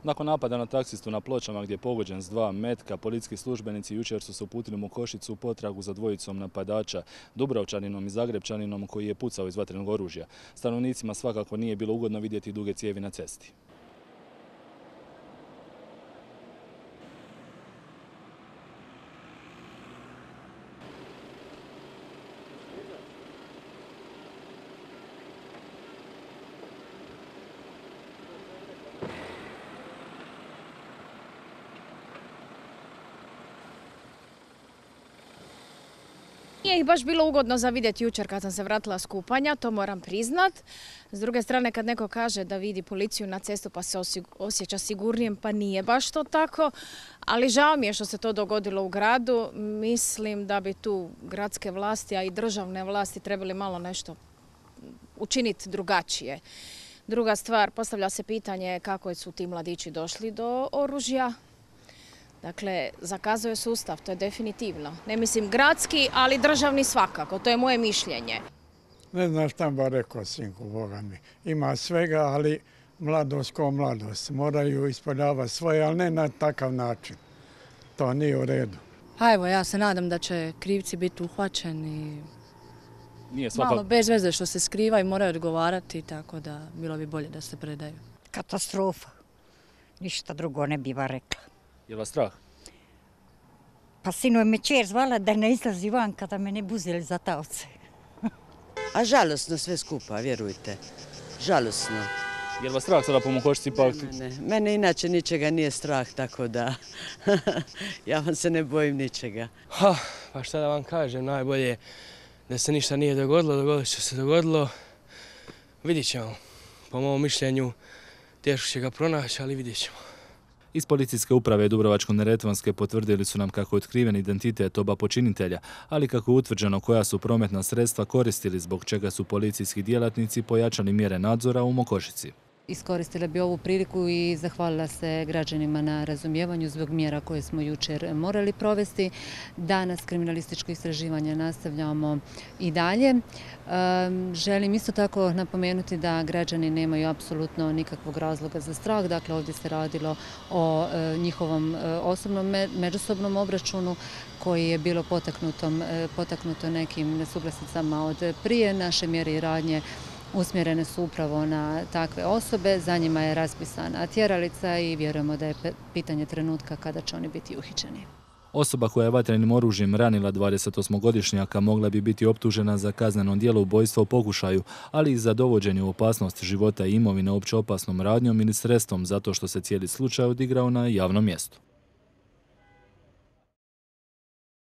Nakon napada na taksistu na Pločama gdje je pogođen s 2 metka, policijski službenici jučer su se uputili u Mokošicu u potragu za dvojicom napadača, Dubrovčaninom i Zagrepčaninom koji je pucao iz vatrenog oružja. Stanovnicima svakako nije bilo ugodno vidjeti duge cijevi na cesti. Nije ih baš bilo ugodno za vidjeti jučer kad sam se vratila s kupanja, to moram priznat. S druge strane, kad neko kaže da vidi policiju na cestu pa se osjeća sigurnijem, pa nije baš to tako. Ali žao mi je što se to dogodilo u gradu. Mislim da bi tu gradske vlasti, a i državne vlasti trebali malo nešto učiniti drugačije. Druga stvar, postavlja se pitanje kako su ti mladići došli do oružja. Dakle, zakazuje sustav, to je definitivno. Ne mislim gradski, ali državni svakako, to je moje mišljenje. Ne znam šta ba rekao, sinku, Boga mi. Ima svega, ali mladost ko mladost. Moraju ispoljavati svoje, ali ne na takav način. To nije u redu. A evo, ja se nadam da će krivci biti uhvaćeni. Malo bez veze što se skriva i moraju odgovarati, tako da bilo bi bolje da se predaju. Katastrofa. Ništa drugo ne biva rekla. Je vas strah? Pa sinoć me čer zvala da ne izlazi van kada me ne buzeli za taoce. A žalosno sve skupa, vjerujte. Žalosno. Je vas strah sada po Mokošici? Ne. Mene inače ničega nije strah, tako da ja vam se ne bojim ničega. Pa šta da vam kažem, najbolje da se ništa nije dogodilo, dogodilo što se dogodilo. Vidjet ćemo. Po mom mišljenju teško će ga pronaći, ali vidjet ćemo. Iz policijske uprave Dubrovačko-neretvanske potvrdili su nam kako je otkriven identitet oba počinitelja, ali kako je utvrđeno koja su prometna sredstva koristili, zbog čega su policijski djelatnici pojačali mjere nadzora u Mokošici. Iskoristila bi ovu priliku i zahvalila se građanima na razumijevanju zbog mjera koje smo jučer morali provesti. Danas kriminalističko istraživanje nastavljamo i dalje. Želim isto tako napomenuti da građani nemaju apsolutno nikakvog razloga za strah. Dakle, ovdje se radilo o njihovom osobnom međusobnom obračunu koji je bilo potaknuto nekim nesuglasicama od prije. Naše mjere i radnje usmjerene su upravo na takve osobe, za njima je raspisana tjeralica i vjerujemo da je pitanje trenutka kada će oni biti uhićeni. Osoba koja je vatrenim oružjem ranila 28-godišnjaka mogla bi biti optužena za kazneno djelo ubojstva u pokušaju, ali i za dovođenje u opasnost života i imovine opće opasnom radnjom ili sredstvom zato što se cijeli slučaj odigrao na javnom mjestu.